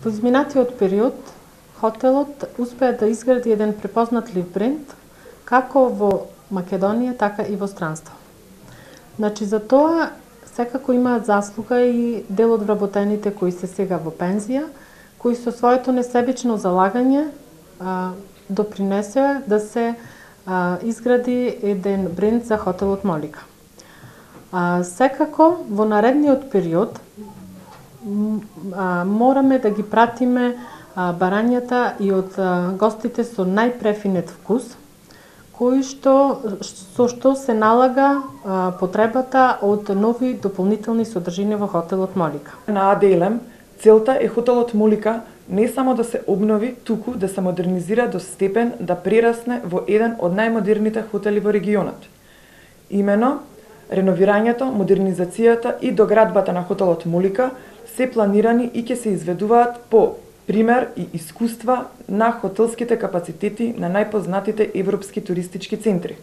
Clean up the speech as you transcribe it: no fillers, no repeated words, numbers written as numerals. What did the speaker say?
Во изминатиот период, хотелот успеа да изгради еден препознатлив бренд, како во Македонија, така и во странство. Значи, за тоа секако имаат заслуга и дел од вработените кои се сега во пензија, кои со своето несебично залагање допринесеа да се изгради еден бренд за хотелот Молика. Секако, во наредниот период, мораме да ги пратиме барањата и од гостите со најпрефинет вкус, со што се налага потребата од нови дополнителни содржини во хотелот Молика. На АДЛМ целта е хотелот Молика не само да се обнови, туку да се модернизира до степен да прерасне во еден од најмодерните хотели во регионот. Имено, реновирањето, модернизацијата и доградбата на хотелот Молика се планирани и ќе се изведуваат по пример и искуства на хотелските капацитети на најпознатите европски туристички центри.